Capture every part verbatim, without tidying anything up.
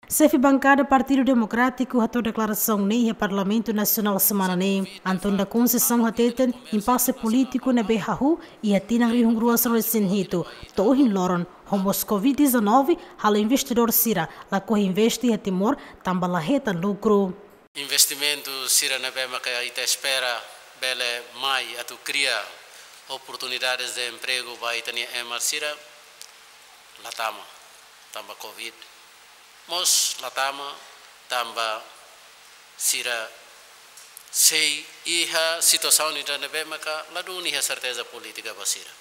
Xefe bankada Partidu Demokrátiku hato'o deklarasaun ne'e iha Parlamentu Nasionál semana ne'e. António da Conceição hateten impase polítiku ne'ebé hahú iha tinan rihun rua sanulu-resin-hitu to'o ohin loron, ho mós covid dezanove halo investidór sira lakohi investe iha Timor tanba la hetan lukru. Investimentu sira ne'ebé maka ita espera bele mai atu kria oportunidades de emprego ba ita-nia ema sira, la tama, tanba covid. Mós la tama tanba sira sei iha situasaun ida ne'ebé maka ladún iha serteza polítika ba sira.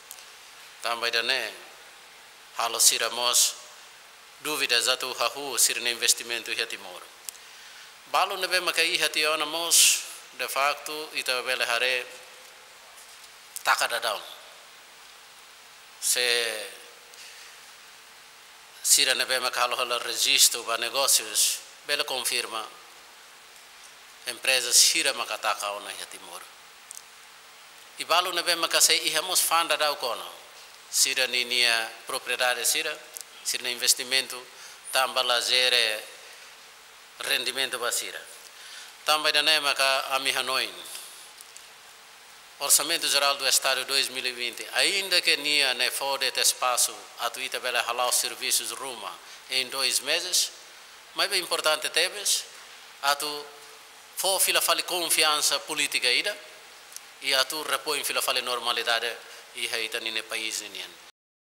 Tanba ida-ne'e halo sira mós dúvidas atu hahú sira-nia investimentu iha Timor. Balu ne'ebé maka iha tiha ona mós, de facto, ita bele haree taka daudaun. Se sira ne'ebé maka halo halo rejistu ba negósius, bele konfirma empreza sira maka taka ona iha Timor. I balu ne'ebé maka sei iha mós fa'an daudauk ona, sira-ninia propriedade sira, sira-nia investimentu, tanba la jere rendimentu ba sira. Tanba ida-ne'e maka ami hanoin, Orçamento Geral do Estado dois mil e vinte, ainda ke nia ne'e fó de'it espasu atu ita bele hala'o servisus ruma em dois meses, maibé importante tebes atu fó fila fali konfiansa polítika ida i atu repoin fila fali normalidade iha ita-nia país nian.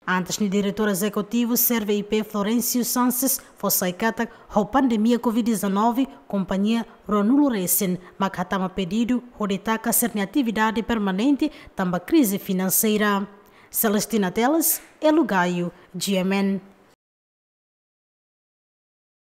Antes ne'e, Diretór Ezekutivu SERVE I P, Florencio Sanches, fó sai katak ho pandemia covid dezanove, kompañia ruanulu-resin mak hatama pedidu hodi taka sira-nia atividade permanente tanba krize finanseira. Celestina Teles, Elo Gaio, G M N.